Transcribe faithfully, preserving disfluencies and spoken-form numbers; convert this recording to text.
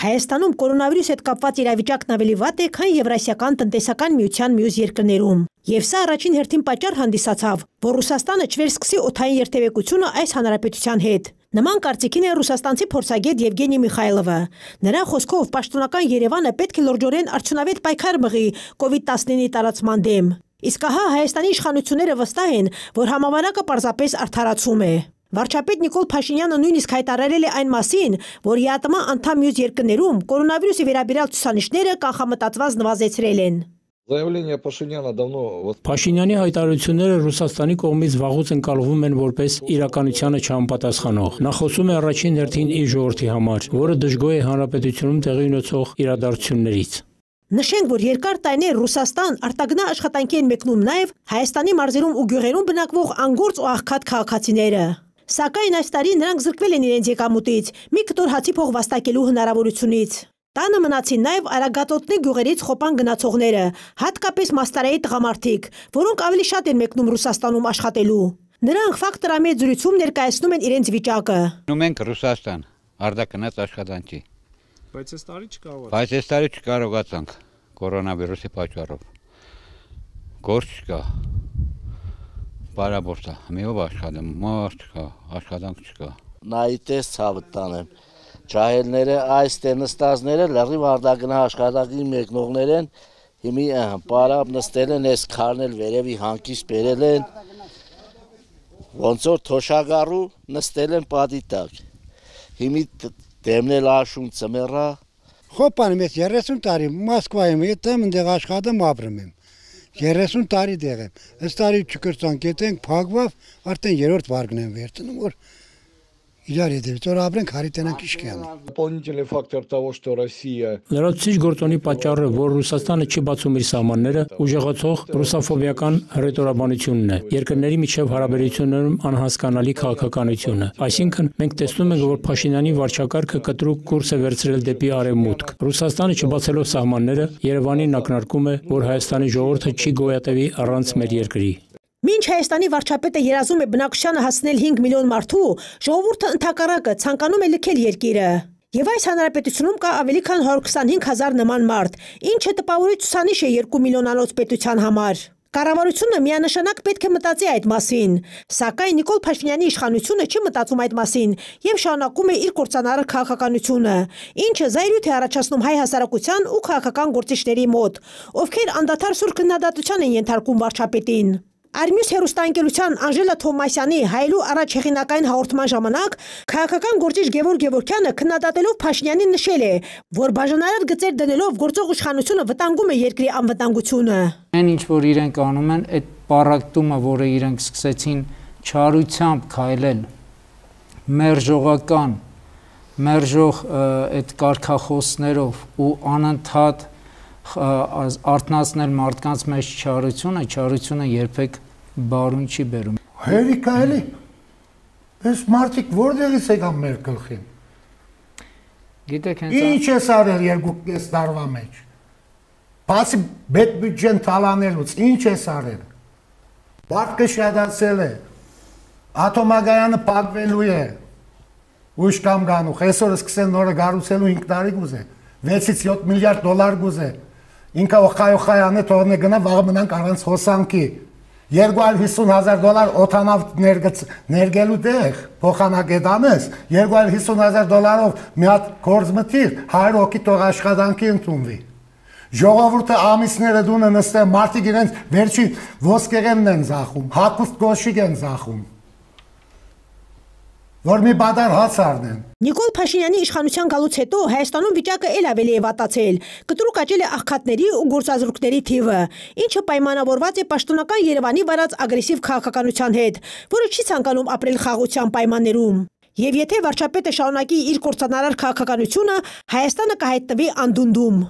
Հայաստանում կորոնավիրուս հետ կապված իրավիճակն ավելի վատ է, քան Եվրասիական տնտեսական միության մյուս երկրներում։ Եվ սա առաջին հերթին պատճառ հանդիսացավ, որ Ռուսաստանը չվերսկսի օդային երթևեկությունը այս հանրապետության հետ։ Նման կարծիքին է ռուսաստանցի փորձագետ Եվգենի Միխայլովը։ Նրա խոսքով պաշտոնական Երևանը պետք է լրջորեն արդյունավետ պայքար մղի կովիդ տասնինը տարածման դեմ։ Իսկ ահա Հայաստանի իշխանությունները վստահ են, որ համավարակը պարզապես արդարացում է։ Վարչապետ Նիկոլ Փաշինյանը նույնիսկ հայտարարել է այն մասին, որ ԵԱՏՄ անդամ մյուս երկրներում կորոնավիրուսի վերաբերյալ ցուցանիշները կանխամտածված նվազեցրել են։ Փաշինյանի հայտարարությունները Ռուսաստանի կողմից վաղուց ընկալվում են որպես իրականությանը չհամապատասխանող։ Նա խոսում է առաջին հերթին իր ժողովրդի համար, որը դժգոհ է հանրապետությունում տեղի ունեցող իրադարձություններից։ Նշենք, որ երկար տարիներ Ռուսաստան արտագնա աշխատանքի են մեկնում նաև Հայաստանի մարզերում ու գյուղերում բնակվող անգործ ու աղքատ քաղաքացիները։ Սակայն այս տարի նրանք զրկվել են իրենց եկամուտից, մի կտոր հացի փող վաստակելու հնարավորությունից։ Տանը մնացին նաև Արագածոտնի գյուղերից Խոպան գնացողները, հատկապես Մաստարայի տղամարդիկ, որոնք ավելի շատ են մեկնում Ռուսաստանում աշխատելու։ Նրանք ֆակտորամետ զրույցում ներկայացնում են իրենց վիճակը։ Մենք Ռուսաստան, արտագնաց աշխատանքի։ Բայց այս տարի չկարողացանք։ Բայց այս տարի չկարողացանք կորոնավիրուսի պատճառով։ Գործ չկա։ Բարաբորտ է, միով աշխատում, մարդ չկա, աշխատանք չկա։ Նայիտես ցավը տանեմ։ Ջահելները այս տենստազները լրիվ արտագնա աշխատանքի մեկնողներ են, հիմի պարապ նստել են, այս քարնել վերևի հանկից բերել են, ոնց որ թոշակառու նստել են պատի տակ, հիմի դեմնել աշուն ծմերա։ Խոպանում ես երեսուն տարի Մոսկվայում եմ, ընդեղ աշխատում ապրում եմ, երեսուն տարի դեղ եմ, այս տարի չկրծանք етենք, փակվավ, արդեն երրորդ վարկն եմ վերցնում, որ իրար հետևից որ ապրենք հարիտենանք իշկյանը։ Дополнительный фактор того, что Россия Լրացուցիչ գործոնի պատճառը, որ Ռուսաստանը չի բացում իր սահմանները, ուժեղացող ռուսաֆոբիական հռետորաբանությունն է, երկրների միջև հարաբերություններում անհասկանալի քաղաքականությունը։ Այսինքն, մենք տեսնում ենք, որ Փաշինյանի վարչակարգը կտրուկ կուրս է վերցրել դեպի արևմուտք։ Ռուսաստանը չբացելով սահմանները, Երևանին ակնարկում է, որ Հայաստանի ժողովուրդը չի գոյատևի առանց մեր երկրի։ Մինչ Հայաստանի վարչապետը երազում է բնակչությանը հասնել հինգ միլիոն մարդու, ժողովուրդը ընդհակառակը ցանկանում է լքել երկիրը։ Եվ այս հանրապետությունում կա ավելի քան հարյուր քսանհինգ հազար նման մարդ, ինչը տպավորիչ ցուցանիշ է երկու միլիոնանոց պետության համար։ Կառավարությունը միանշանակ պետք է մտածի այդ մասին, սակայն Նիկոլ Փաշինյանի իշխանությունը չի մտածում այդ մասին եւ շարունակում է իր կործանարար քաղաքականությունը, ինչը զայրույթ է առաջացնում հայ հասարակության ու քաղաքական գործիչների մոտ, ովքեր անդադար սուր քննադատության են ենթարկում վարչապետին։ Արմյուս հերոստանգերության Անժելա Թովմասյանի հայելու առաջ հեղինակային հաղորդման ժամանակ քաղաքական գործիչ Գևորգ Գևորգյանը քննադատելով Փաշինյանին նշել է, որ բաժանարար գծեր դնելով գործող իշխանությունը վտանգում է երկրի անվտանգությունը։ Այն ինչ որ իրենք անում են, այդ պարակտումը, որը իրենք սկսեցին չարությամբ քայլել, մերժողական, մերժող այդ կարգախոսներով ու անընդհատ արթնացնել մարդկանց մեջ չարությունը, չարությունը երբեք բարուն չի բերում։ Հերիքա էլի, այս մարդիկ որտեղից եկան մեր գլխին։ Գիտեք, հենց ինչ ես արել երկու կես տարվա մեջ։ Բացի բեդ բյուջեն թալանելուց, ինչ ես արել։ Բարկը շատացել է, ատոմագայանը փակվելու է, ուշ կամ գանուխ, այսօր սկսեն նորը գառուցելու հինգ տարի գուզե, վեցից յոթ միլիարդ դոլար գուզե, ինքը օխայ-օխայանը թողնե գնա, վաղը մնանք առանց հոսանքի, երկու հարյուր հիսուն հազար դոլար օթանավ ներգելու տեղ, փոխանակետ անես, երկու հարյուր հիսուն հազար դոլարով մի հատ գործ մտիր, հարյուր հոգի թող աշխատանքի ընդունվի։ Ժողովուրդը ամիսները դունը նստեն, մարդիկ իրենց վերջին ոսկեղենն են ձախում, հագուստ գոշիկ են ձախում, որ մի բադար հաց առնեն։ Նիկոլ Փաշինյանի իշխանության գալուց հետո Հայաստանում վիճակը ել ավելի է վատացել, կտրուկ աճել է աղքատների ու գործազուրկների թիվը, ինչը պայմանավորված է պաշտոնական Երևանի վարած ագրեսիվ քաղաքականության հետ, որը չի ցանկանում ապրել խաղաղության պայմաններում։ Եվ եթե վարչապետը շարունակի իր կործանարար քաղաքականությունը, Հայաստանը կհայտնվի անդունդում։